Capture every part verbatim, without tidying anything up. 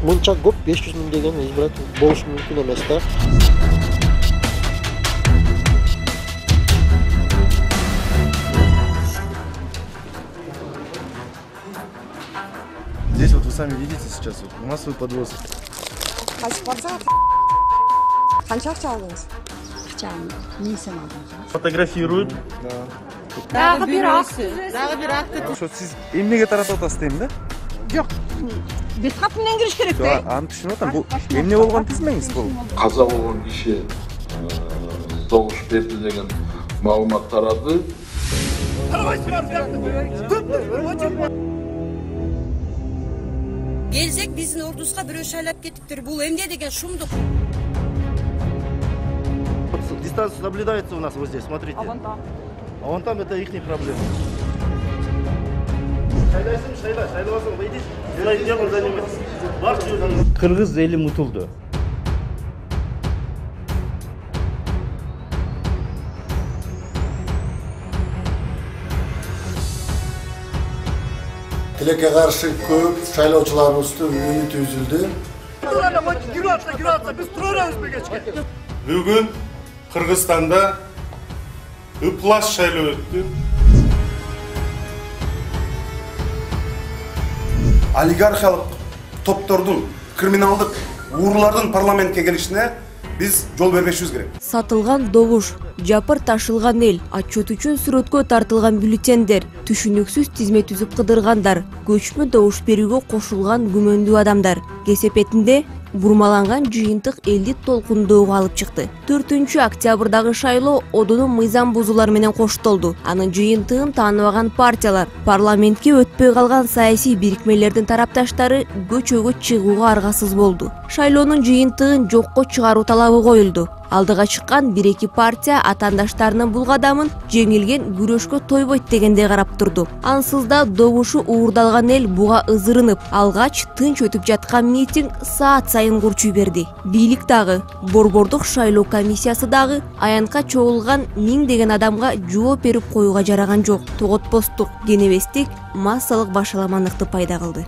Мынча көп беш жүз миң деген избиратель болушу мүмкүн эмес да. Здесь вот вы сами видите сейчас вот массовый подвоз. Канча акча алдыңыз? Акчаны мен сен алдым. Фотографируют. Дагы бир акты, дагы бир акты. Ошо сиз эмнеге таратып атасыз дейм да? Жок. Бескат менен кириш керек да. Аны түшүнүп атам. Бул эмне болгон тизмеңиз бул? Каза болгон киши согуш берди деген маалымат тарады. Келсек биздин ордубузга бирөө шайлап кетиптир. Бул эмне деген шумдук? Дистанция соблюдается у нас вот здесь, смотрите. А вон там? А вон там это их проблема. Шайлайсың, шайлай, шайлабасаң, выйди. Силай делом занимайтесь. Барча өзүңүз. Кыргыз эли мутулду. Тилекке каршы көп шайлоочуларыбыздын үмүтү үзүлдү. Бүгүн Кыргызстанда ыплас шайлоо өттү. Олигархиялык топтордун, криминалдык уурулардын парламентке келишине биз жол бербешибиз керек. Сатылган добуш, жапыр ташылган эл, отчет үчүн сүрөткө тартылган бюллетендер, түшүнүксүз тизме түзүп кыдыргандар, көчмө добуш берүүгө кошулган күмөндүү адамдар. Кесепетинде бурмаланган жыйынтык элди толкундоого алып чыкты. төртүнчү октябрдагы шайлоо одону мыйзам бузуулар менен коштолду. Анын жыйынтыгын тааныбаган партиялар, парламентке өтпөй калган саясий бирикмелердин тарапташтары көчөгө чыгууга аргасыз болду. Шайлоонун жыйынтыгын жокко чыгаруу талабы коюлду. Алдыга чыккан бир эки партия атаандаштарынын бул кадамын жеңилген күрөшкө тойбойт дегендей карап турду. Ансыз да добушу уурдалган эл буга ызырынып, алгач тынч өтүп жаткан митинг саат сайын курчуй берди. Бийлик дагы, борбордук шайлоо комиссиясы дагы аянтка чогулган миң деген адамга жооп берип коюуга жараган жок. Тоготпостук, кенебестик массалык башаламандыкты пайда кылды.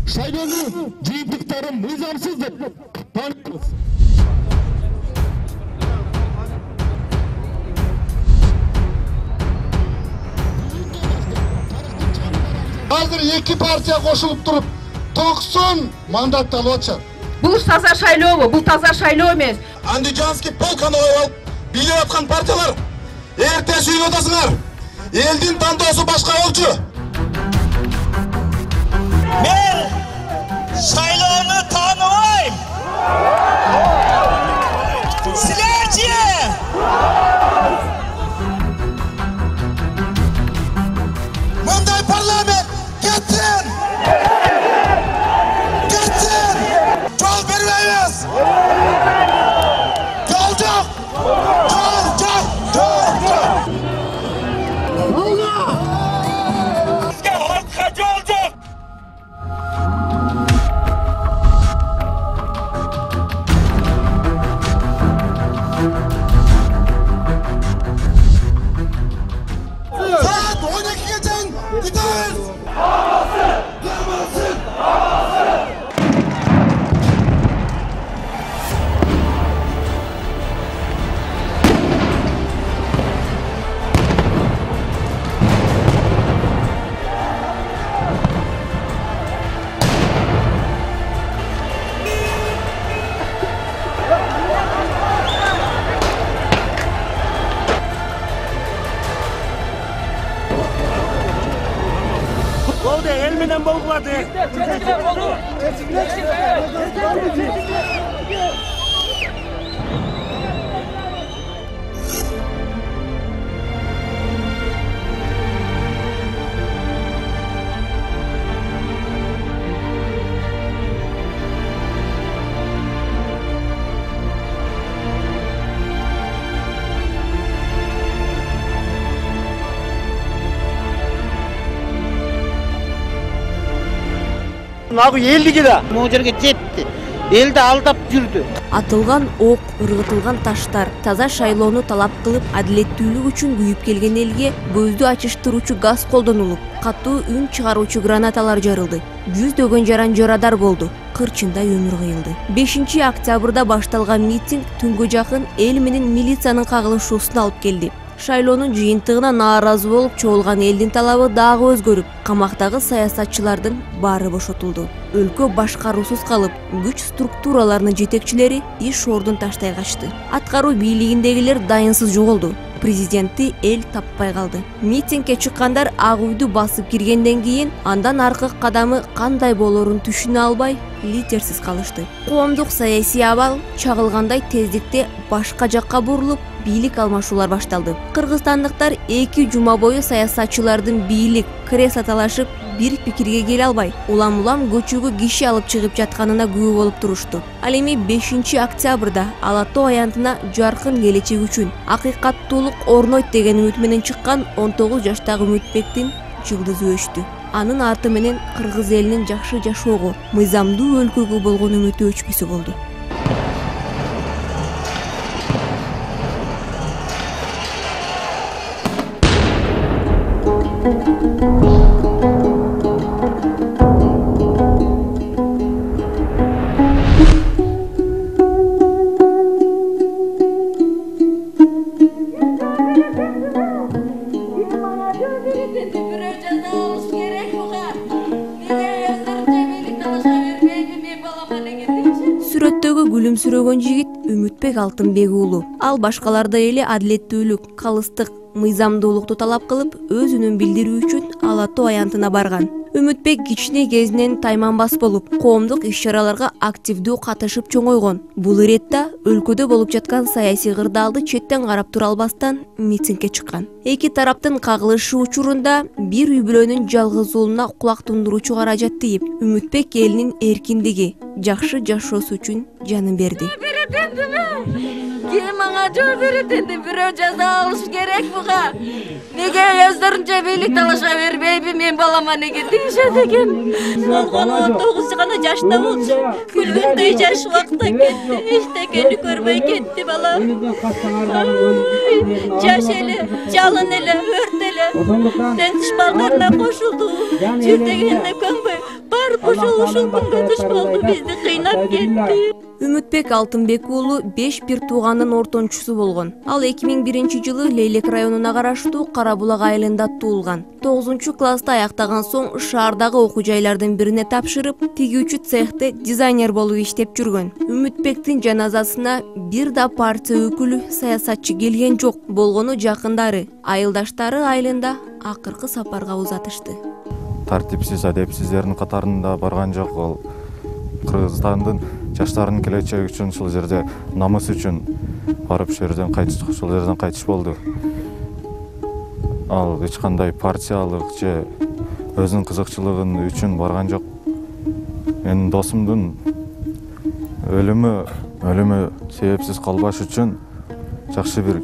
Шайлоонун жыйынтыктары мыйзамсыз деп тааныбыз. Азыр эки партия кошулуп туруп токсон мандат алып атышат. Бул таза шайлообу? Бул таза шайлоо эмес. Андижанский полканы алып бийлеп аткан партиялар эрте сүйүнүп атасыңар. Элдин тандоосу башка болчу. Мен шайлоону тааныбайм. Силерчи? Мындай парламент кетсин! Кетсин! Жол бербейбиз! Жол жок! Жол жок! Жол жок! Бизге халкка жол жок! Saat on ikiге чейин күтөбүз! Болду, эл менен болгулады. Нагы элдиги да могу жерге жетти. Элди алдап жүрдү. Атылган ок, ыргытылган таштар, таза шайлоону талап кылып, адилеттүүлүк үчүн күйүп келген элге көздү ачыштыруучу газ колдонулуп, катуу үн чыгаруучу гранаталар жарылды. Жүздөгөн жаран жарадар болду. Кырчындай өмүр кыйылды. бешинчи октябрда башталган митинг түнгө жакын эл менен милициянын кагылышуусуна алып келди. Шайлоонун жыйынтыгына нааразы болуп чогулган элдин талабы дагы өзгөрүп, камактагы саясатчылардын баары бошотулду. Өлкө башкаруусуз калып, күч структураларынын жетекчилери иш ордун таштай качты. Аткаруу бийлигиндегилер дайынсыз жоголду. Президентти эл таппай калды. Митингге чыккандар ак үйдү басып киргенден кийин андан аркы кадамы кандай болорун түшүнө албай, лидерсиз калышты. Коомдук саясий абал чагылгандай тездикте башка жакка бурулуп, бийлик алмашуулар башталды. Кыргызстандыктар эки жума бою саясатчылардын бийлик кресло талашып бир пикирге келе албай, улам-улам көчөгө киши алып чыгып жатканына күбө болуп турушту. Ал эми бешинчи октябрда Ала Тоо аянтына жаркын келечек үчүн акыйкаттуулук орнойт деген үмүт менен чыккан он тогуз жаштагы Үмүтбектин жылдызы өчтү. Анын арты менен кыргыз элинин жакшы жашоого, мыйзамдуу өлкөгө болгон үмүтү өчпөсө болду. Сүрөттөгү күлүмсүрөгөн жигит Үмүтбек Алтынбек уулу. Ал башкалардай эле адилеттүүлүк, калыстык, мыйзамдуулукту талап кылып, өз үнүн билдирүү үчүн Ала Тоо аянтына барган. Үмүтбек кичине кезинен тайманбас болуп, коомдук иш-чараларга активдүү катышып чоңойгон. Бул иретте өлкөдө болуп жаткан саясий кырдаалды четтен карап тура албастан митингге чыккан. Эки тараптын кагылышы учурунда бир үй бүлөнүн жалгыз уулуна кулак тундуруучу каражат тийип, Үмүтбек элинин эркиндиги, жакшы жашоосу үчүн жанын берди. Ким ага жол берет энди, бирөө жаза алыш керек буга. Неге өздөрүнчө бийлик талаша бербейби, мен балама неге тийишет экен? Болгону он тогуз гана жашта болчу. Күлгөндөй жаш убакта кетти, эчтекени көрбөй кетти бала. Жаш эле, жалын эле, өрт эле. Тентиш балдарына кошулду. Жүрдөгөнүнө көнбөй, барып ошол ушул күнгө туш болду, бизди кыйнап кетти. Үмүтбек Алтынбек уулу беш бир туугандын ортончусу болгон. Ал эки миң биринчи жылы Лейлек районуна караштуу Карабулак айылында туулган. тогузунчу класста аяктаган соң шаардагы окуу жайлардын бирине тапшырып, тигүүчү цехте дизайнер болуп иштеп жүргөн. Үмүтбектин жаназасына бир да партия өкүлү, саясатчы келген жок. Болгону жакындары, айылдаштары айылында акыркы сапарга узатышты. Тартипсиз, адепсиздердин катарында барган жок. Ал Кыргызстандын жаштарынын келечеги үчүн, ушул жерде намыс үчүн барып ушул жерден кайтыш, ушул жерден кайтыш болду. Ал эч кандай партиялык же өзүнүн кызыкчылыгын үчүн барган жок. Менин досумдун өлүмү, өлүмү себепсиз калбаш үчүн жакшы бир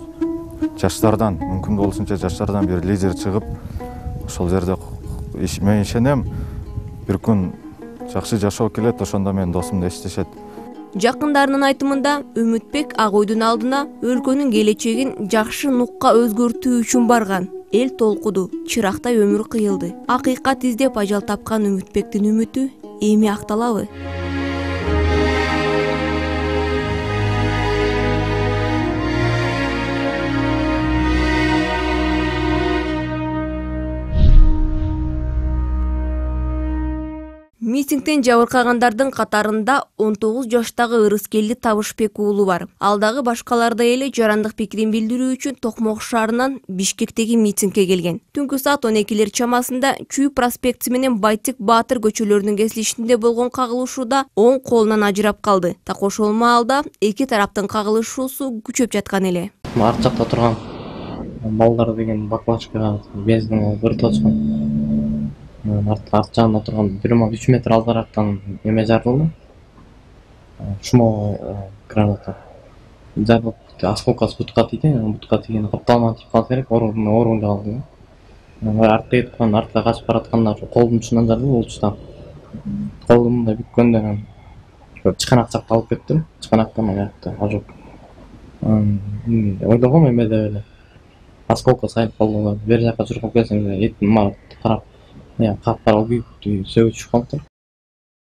жаштардан, мүмкүн болушунча жаштардан бир лидер чыгып, ошол жерде мен ишенем, бир күн жакшы жашоо келет, ошондо менин досумду эстешет. Жакындарынын айтымында Үмүтбек ак үйдүн алдына өлкөнүн келечегин жакшы нукка өзгөртүү үчүн барган. Эл толкуду, чырактай өмүр кыйылды. Акыйкат издеп ажал тапкан Үмүтбектин үмүтү эми акталабы? Митингден жабыркагандардын катарында он тогуз жаштагы Ырыскелди Табышбек уулу бар. Ал дагы башкалардай эле жарандык пикирин билдирүү үчүн Токмок шаарынан Бишкектеги митингге келген. Түнкү саат он экилер чамасында Чүй проспекти менен Байтик Баатыр көчөлөрүнүн кесилишинде болгон кагылышууда оң колунан ажырап калды. Так ошол маалда эки тараптын кагылышуусу күчөп жаткан эле. Арт жакта турган балдар деген баклажкага бензин өрт очкон. Арт жагында турган бир үч метр алдарактан эме жарылды. Шумо граната. Жарылып осколкасы бутка тийди, бутка тийген капталма тийип калса керек, орунда орунда калды. Артта турган, артта качып бараткандар колдун учунан жарылды, болчу да. Колду мындай бүккөндө чыканак жакка алып кеттим. Чыканакта мына жакта ожог. Ойдогом эме деп эле. Осколка сайып калды. Бер жака чуркап келсем этим мага карап, я капкара күйүктүү сөгүп чыгып калыптыр.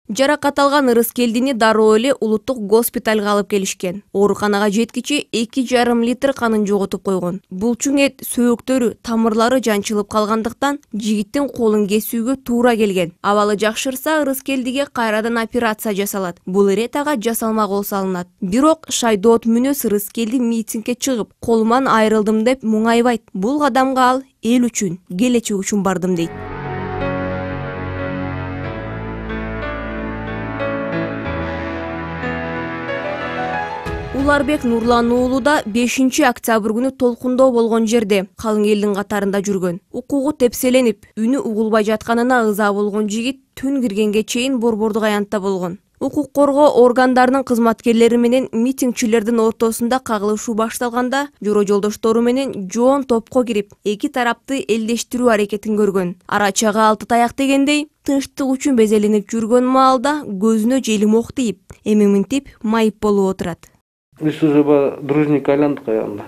Жаракат алган Ырыскелдини дароо эле улуттук госпиталга алып келишкен. Ооруканага жеткичи эки жарым литр канын жоготуп койгон. Булчуң эт сөөктөрү, тамырлары жанчылып калгандыктан жигиттин колун кесүүгө туура келген. Абалы жакшырса Ырыскелдиге кайрадан операция жасалат. Бул ирет ага жасалма кол салынат. Бирок шайдоот мүнөс Ырыскелди митингге чыгып, колуман айрылдым деп муңайбайт. Бул кадамга ал эл үчүн, келечек үчүн бардым дейт. Уларбек Нурлан уулу да бешинчи октябрь күнү толкундоо болгон жерде калың элдин катарында жүргөн. Укугу тепселенип, үнү угулбай жатканына ыза болгон жигит түн киргенге чейин борбордук аянтта болгон. Укук коргоо органдарынын кызматкерлери менен митингчилердин ортосунда кагылышуу башталганда жора жолдоштору менен жоон топко кирип, эки тарапты элдештирүү аракетин көргөн. Арачага алты таяк дегендей, тынчтык үчүн безеленип жүргөн маалда көзүнө желим ок тийип, эми мынтип майып болуп отурат. Биз уже дружник айландык аягында.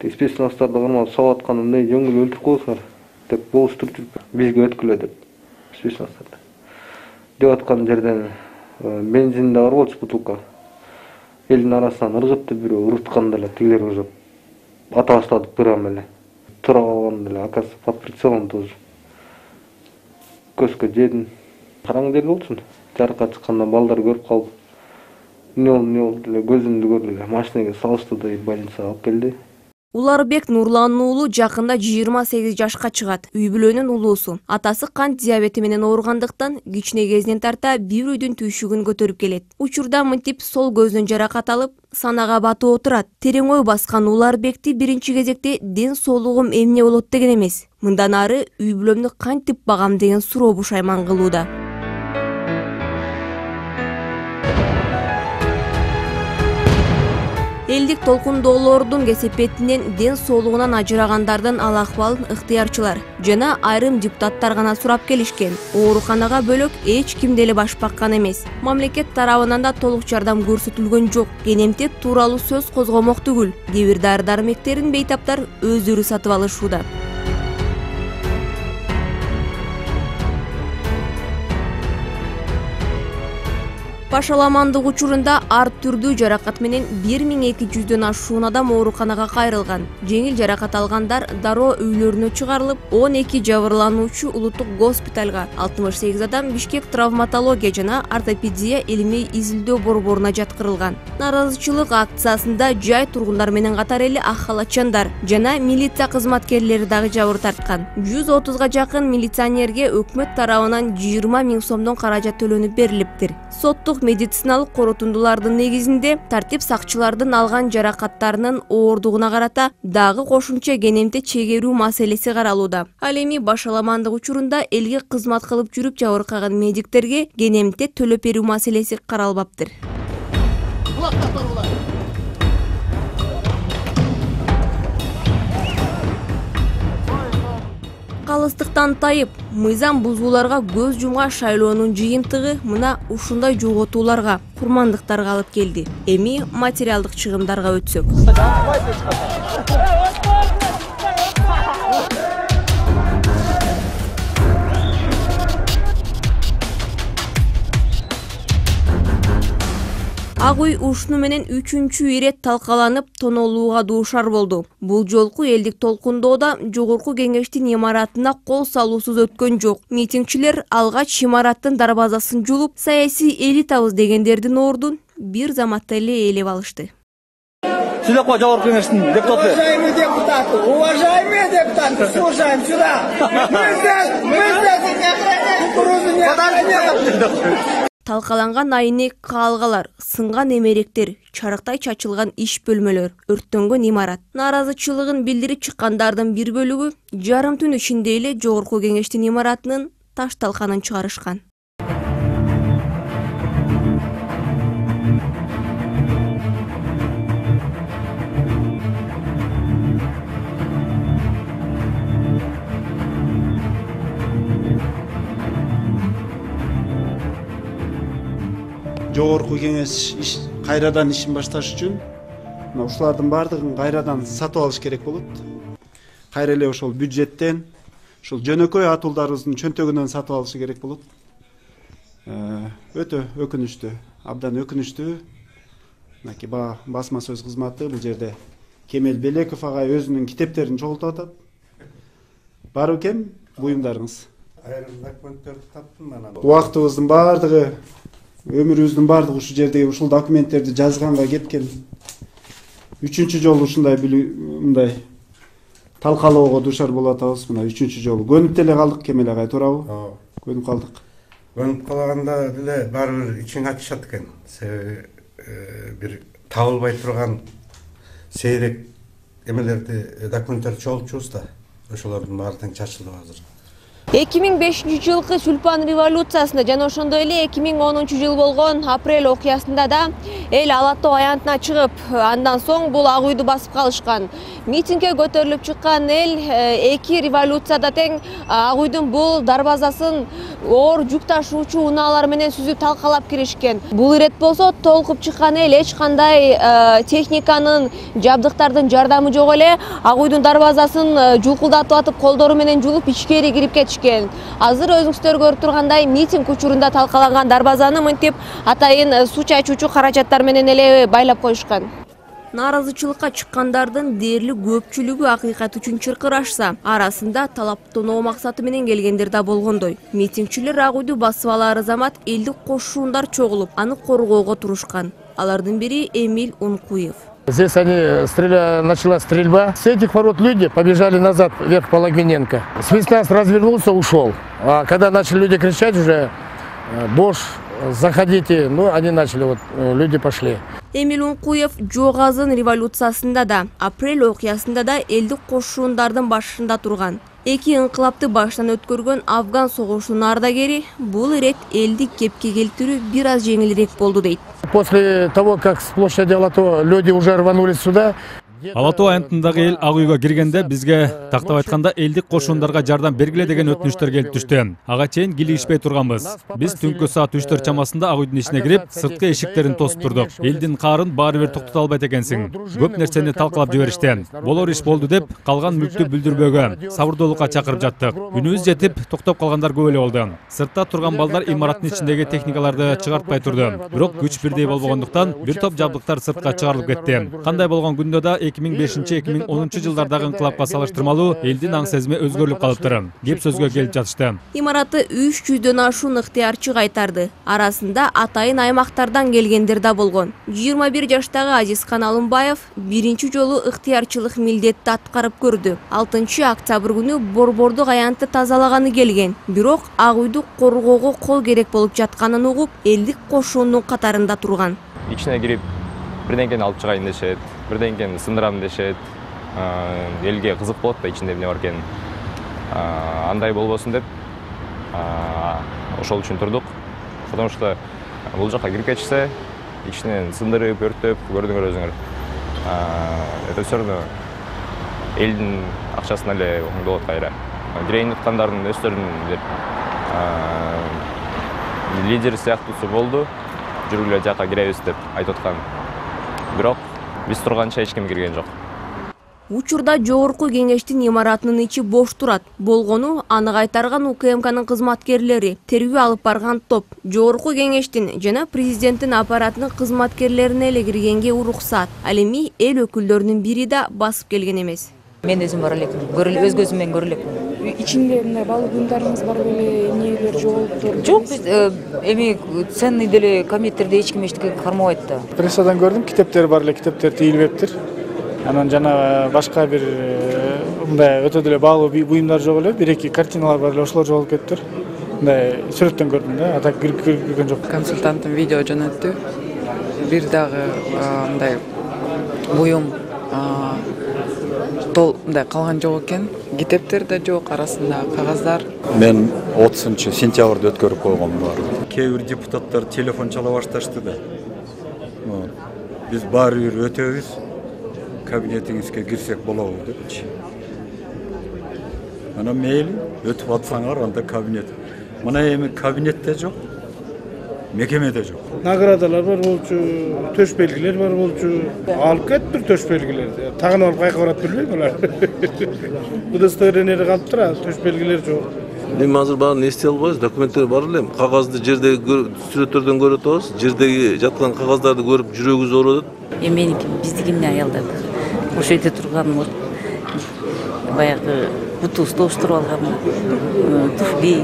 Спецнастарды кармап салып атканда эмне жөнгүл өлтүрүп коесуңар деп болуштуруп бизге өткүлө деп спецнастарды. Деп аткан жерден бензин да бар болчу бутылка. Элдин арасынан ыргытты бирөө урутканда эле тигилер уже ата баштадык бирам эле. Тура калганда эле акасы под прицелом тоже. Көзгө жедим. Караң дел болчун. Жарыкка чыкканда балдар көрүп калып не ол не ол деле көзүмдү көрдү эле машинага салышты да больницага алып келди. Уларбек Нурлан уулу жакында жыйырма сегиз жашка чыгат. Үй бүлөнүн улуусу. Атасы кант диабети менен ооругандыктан кичине кезинен тарта бир үйдүн түйшүгүн көтөрүп келет. Учурда мынтип сол көздөн жаракат алып, санага батып отурат. Терең ой баскан Уларбекти биринчи кезекте ден соолугум эмне болот деген эмес. Мындан ары үй бүлөмдү кантип багам деген суроо бушайман кылууда. Элдик толкундоолордун кесепетинен ден соолугунан ажырагандардын ал акыбалын ыктыярчылар жана айрым депутаттар гана сурап келишкен. Ооруканага бөлөк эч ким деле баш баккан эмес. Мамлекет тарабынан да толук жардам көрсөтүлгөн жок. Кенемтек тууралуу сөз козгомок түгүл. Кээ бир дары-дармектерин бейтаптар өздөрү сатып алышууда. Пашаламандык учурунда ар түрдүү жаракат менен бир миң эки жүздөн ашуун адам ооруканага кайрылган. Жеңил жаракат алгандар дароо үйлөрүнө чыгарылып, он эки жабырлануучу улуттук госпиталга, алтымыш сегиз адам Бишкек травматология жана ортопедия илимий изилдөө борборуна жаткырылган. Наразычылык акциясында жай тургундар менен катар эле ак халатчандар жана милиция кызматкерлери дагы жабыр тарткан. жүз отузга жакын милиционерге өкмөт тарабынан жыйырма миң сомдон каражат төлөнүп берилиптир. Соттук медициналык корутундулардын негизинде тартип сакчылардын алган жаракаттарынын оордугуна карата дагы кошумча кенемте чегерүү маселеси каралууда. Ал эми башаламандык учурунда элге кызмат кылып жүрүп жабыркаган медиктерге кенемте төлөп берүү маселеси каралбаптыр. Калыстыктан тайып, мыйзам бузууларга көз жумган шайлоонун жыйынтыгы мына ушундай жоготууларга, курмандыктарга алып келди. Эми материалдык чыгымдарга өтсөк. Ак үй ушуну менен үчүнчү ирет талкаланып, тоноолууга дуушар болду. Бул жолку элдик толкундоодо жогорку кеңештин имаратына кол салуусуз өткөн жок. Митингчилер алгач имараттын дарбазасын жулуп, саясий элитабыз дегендердин ордун бир заматта эле ээлеп алышты. Сюда, жогорку кеңештин депутаты. Уважаемые депутаты, уважаемые депутаты, слушаем сюда. Мы здесь, мы здесь не охраняем кукурузу, не охраняем. Талкаланган айнек каалгалар, сынган эмеректер, чарыктай чачылган иш бөлмөлөр, өрттөнгөн имарат. Наразычылыгын билдирип чыккандардын бир бөлүгү жарым түн ичинде эле жогорку кеңештин имаратынын таш талканын чыгарышкан. жогорку кеңеш кайрадан ишин башташ үчүн мына ушулардын баардыгын кайрадан сатып алыш керек болот. Кайра эле ошол бюджеттен, ушул жөнөкөй атуулдарыбыздын чөнтөгүнөн сатып алышы керек болот. Өтө өкүнүчтүү, абдан өкүнүчтүү. Мынакей басма сөз кызматы бул жерде Кемел Белеков агай өзүнүн китептерин чогултуп атат. Бар экен буюмдарыңыз. Айрым документтерди таптым мен. Убактыбыздын баардыгы, өмүрүбүздүн баардыгы ушул жерде ушул документтерди жазганга кеткен. Үчүнчү жолу ушундай мындай талкалоого душар болуп атабыз. Мына үчүнчү жолу көнүп деле калдык Кемел агай, туурабы? Ооба. Көнүп калдык. Көнүп калганда деле баары бир ичиң ачышат экен. Себеби бир табылбай турган сейрек эмелерди, документтерди чогултчубуз да. Ошолордун баары тең чачылды азыр. эки миң бешинчи жылкы Сүлпан революциясында жана ошондой эле эки миң онунчу жыл болгон апрель окуясында да эл Ала Тоо аянтына чыгып, андан соң бул Ак үйдү басып калышкан. Митингге көтөрүлүп чыккан эл эки революцияда тең Ак үйдүн бул дарбазасын оор жүк ташуучу унаалар менен сүзүп талкалап киришкен. Бул ирет болсо толкуп чыккан эл эч кандай техниканын, жабдыктардын жардамы жок эле Ак үйдүн дарбазасын жулкулдатып атып, колдору менен жулуп ичкери кирип кетишкен. Азыр өзүңүздөр көрүп тургандай митинг учурунда талкаланган дарбазаны мынтип атайын суу чачуучу каражаттар менен эле байлап коюшкан. Нааразычылыкка чыккандардын дээрлик көпчүлүгү акыйкат үчүн чыркырашса, арасында талаптоноо максаты менен келгендер да болгондой. Митингчилер Ак үйдү басып алаар замат элдик кошуундар чогулуп, аны коргоого турушкан. Алардын бири Эмиль Ункуев. Здесь они стреля... началась стрельба. С этих ворот люди побежали назад, вверх по Логвиненко. Спецназ развернулся, ушел. А когда начали люди кричать уже, Бош, заходите, ну они начали, вот люди пошли. Эмиль Ункуев Жогазын революциясында да, апрель окуясында да элдик кошуундардын башында турган. Эки инкылапты баштан өткөргөн Афган согушунун ардагери бул ирет элди кепке келтирүү бир аз жеңилирээк болду дейт. После того, как с площади Ала Тоо люди уже рванулись сюда, Ала Тоо аянтындагы эл Ак үйгө киргенде бизге тактап айтканда элдик кошуундарга жардам бергиле деген өтүнүчтөр келип түштү. Ага чейин килигишпей турганбыз. Биз түнкү саат үч төрт чамасында Ак үйдүн ичине кирип, сырткы эшиктерин тосуп турдук. Элдин каарын баары бир токтото албайт экенсиң. Көп нерсени талкалап жиберишти. Болор иш болду деп, калган мүлктү бүлдүрбөөгө, сабырдуулукка чакырып жаттык. Күнүбүз жетип, токтоп калгандар көп эле болду. Сыртта турган балдар имараттын ичиндеги техникаларды чыгартпай турду. Бирок күч бирдей болбогондуктан бир топ жабдыктар сыртка чыгарылып кетти. Кандай болгон күндө да эки миң бешинчи эки миң онунчу жылдардагы инкылапка салыштырмалуу элдин аң сезими өзгөрүлүп калыптыр. Кеп сөзгө келип жатышты. Имаратты үч жүздөн ашуун ыктыярчы кайтарды. Арасында атайын аймактардан келгендер да болгон. жыйырма бир жаштагы Азизкан Алымбаев биринчи жолу ыктыярчылык милдетти аткарып көрдү. алтынчы октябрь күнү борбордук аянтты тазалаганы келген. Бирок Ак үйдү коргоого кол керек болуп жатканын угуп, элдик кошуундун катарында турган. Ичине кирип, бирденкени алып чыгайын дешет, бирденкени сындырам дешет. Элге кызык болот да ичинде эмне бар экенин. Андай болбосун деп ошол үчүн турдук. Потому что бул жака кирип кетишсе, ичинен сындырып, өрттөп, көрдүңөр өзүңөр. Это всё равно элдин акчасына эле болот кайра. Кирейин уткандардын өздөрүнүн деп лидер сыяктуусу болду. Жүргүлө жака киребиз деп айтып аткан. Бирок биз турганча эч ким кирген жок. Учурда жогорку кеңештин имаратынын ичи бош турат. Болгону аны кайтарган У К М К'нын кызматкерлери, тергөө алып барган топ, жогорку кеңештин жана президенттин аппаратынын кызматкерлерине эле киргенге уруксат. Ал эми эл өкүлдөрүнүн бири да басып келген эмес. Мен өзүм бара элекмин, көрүлүп өз көзүм менен көрө элекмин. Ичинде мындай баалуу буюмдарыңыз бар беле, эмнелер жоголуптур? Жок, биз эми ценный деле комитеттерде эч ким эчтеке кармабайт да. Прессадан көрдүм, китептер бар эле, китептер тийилбептир. Анан жана башка бир мындай өтө деле баалуу буюмдар жок эле, бир-эки картиналар бар эле, ошолор жоголуп кетиптир. Мындай сүрөттөн көрдүм да, ата кирип кирген жок. Консультантым видео жөнөттү. Бир дагы мындай буюм тол мындай калган жок экен. Китептер да жок, арасында кагаздар. Мен отузунчу сентябрда өткөрүп койгом бар. Кээ бир депутаттар телефон чала башташты да. Биз баары бир өтөбүз. Кабинетиңизге кирсек болобу депчи. Мына мейли өтүп атсаңар анда кабинет. Мына эми кабинетте жок. мекемеде жок. Наградалар бар болчу, төш белгилер бар болчу. Алып кетиптир төш белгилерди. Тагын алып кайка барат билбейм алар. Удостоверениеде калып турат, төш белгилер жок. Эми азыр баарын эстей албайбыз, документтер бар элем. Кагазды жердеги сүрөттөрдөн көрүп атабыз. Жердеги жаткан кагаздарды көрүп жүрөгүбүз ооруп атат. Эми меники биздики эмне аялдар. Ошол жерде турган баягы бутубузду тоштуруп алган туфли,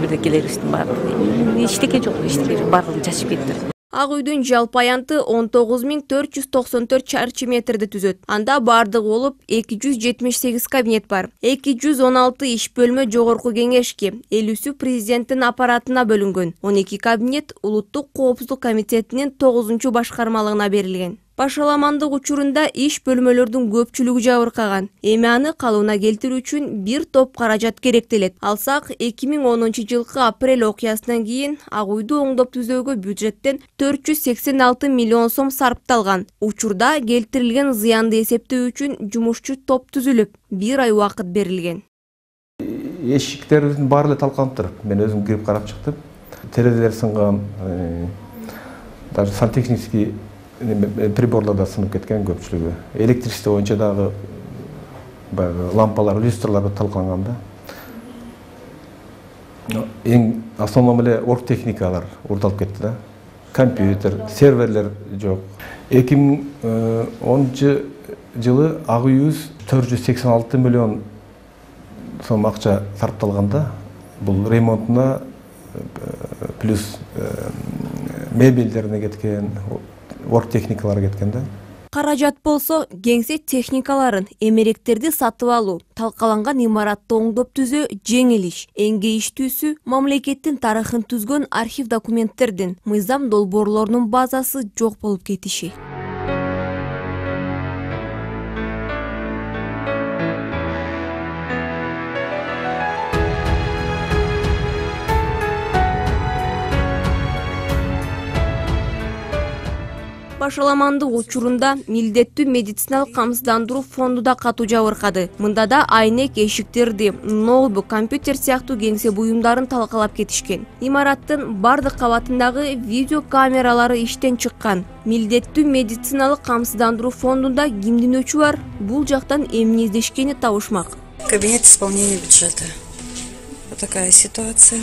бирдекелерибиздин баардыгы. Эчтеке жок, эчтеке жок, баардыгын чачып кетиптир. Ак үйдүн жалпы аянты он тогуз миң төрт жүз токсон төрт чарчы метрди түзөт. Анда бардыгы болуп эки жүз жетимиш сегиз кабинет бар. эки жүз он алты иш бөлмө жогорку кеңешке, элүүсү президенттин аппаратына бөлүнгөн. он эки кабинет Улуттук коопсуздук комитетинин тогузунчу башкармалыгына берилген. Башаламандык учурунда иш бөлмөлөрдүн көпчүлүгү жабыркаган. Эми аны калыбына келтирүү үчүн бир топ каражат керектелет. Алсак эки миң онунчу жылкы апрель окуясынан кийин Ак үйдү оңдоп түзөөгө бюджеттен төрт жүз сексен алты миллион сом сарпталган. Учурда келтирилген зыянды эсептөө үчүн жумушчу топ түзүлүп, бир ай убакыт берилген. Эшиктерибиздин баары эле талкаланыптыр. Мен өзүм кирип карап чыктым. Терезелер сынган, даже сантехнический приборлар да сынып кеткен көпчүлүгү. Электричество боюнча дагы баягы лампалар, люстрлар талкаланган да. Эң основном эле оргтехникалар урдалып кетти да. Компьютер, серверлер жок. эки миң онунчу жылы Ак үйүбүз төрт жүз сексен алты миллион сом акча сарпталганда, бул ремонтуна плюс мебелдерине кеткен, оргтехникалар кеткен да. Каражат болсо, кеңсе техникаларын, эмеректерди сатып алуу, талкаланган имаратты оңдоп түзөө жеңил иш. Эң кейиштүүсү мамлекеттин тарыхын түзгөн архив документтердин, мыйзам долбоорлорунун базасы жок болуп кетиши. Башаламандык учурунда милдеттүү медициналык камсыздандыруу фонду да катуу жабыркады. Мында да айнек эшиктерди, ноутбук, компьютер сыяктуу кеңсе буюмдарын талкалап кетишкен. Имараттын бардык кабатындагы видео камералары иштен чыккан. Милдеттүү медициналык камсыздандыруу фондунда кимдин өчү бар? Бул жактан эмне издешкени табышмак. Кабинет исполнения бюджета. Вот такая ситуация.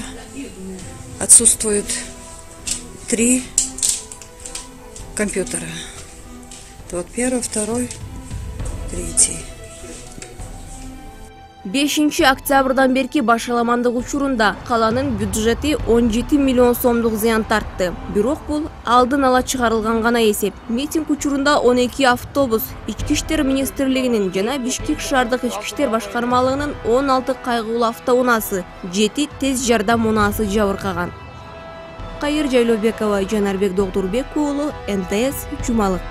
Отсутствуют три компьютера. Вот первый, второй, третий. бешинчи октябрдан берки башаламандык учурунда каланын бюджети он жети миллион сомдук зыян тартты. Бирок бул алдын ала чыгарылган гана эсеп. Митинг учурунда он эки автобус, Ички иштер министрлигинин жана Бишкек шаардык ички иштер башкармалыгынын он алты кайгылуу автоунаасы, жети тез жардам унаасы жабыркаган. Кайыр Жайлообекова, Жанарбек Догдурбек уулу, эн тэ эс Жумалык.